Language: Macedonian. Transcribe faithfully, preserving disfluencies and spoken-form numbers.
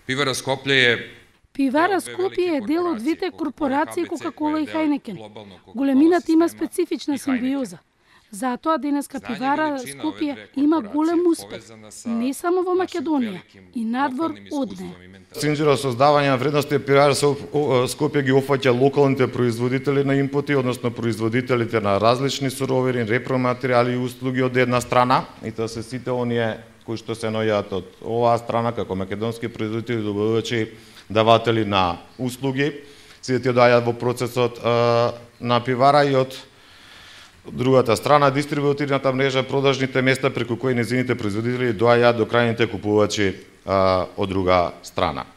Пивара Скопје е Пивара Скопје е дел од двете корпорации Кока-кола и Хајнекен. Големината има специфична симбиоза. Затоа денеска Пивара Скопје има голем успех, не само во Македонија, и надвор од неа. Синџира создавање на вредности Пивара Скопје ги опфаќа локалните производители на импоти, односно производителите на различни суровини, репроматеријали и услуги од една страна, и тоа се сите оние кои што се наоѓаат од оваа страна како македонски производители, добавувачи, даватели на услуги, сите тие доаѓаат во процесот а, на Пивара, и од другата страна дистрибуторната мрежа, продажните места преку кои незините производители доаѓаат до крајните купувачи а, од друга страна.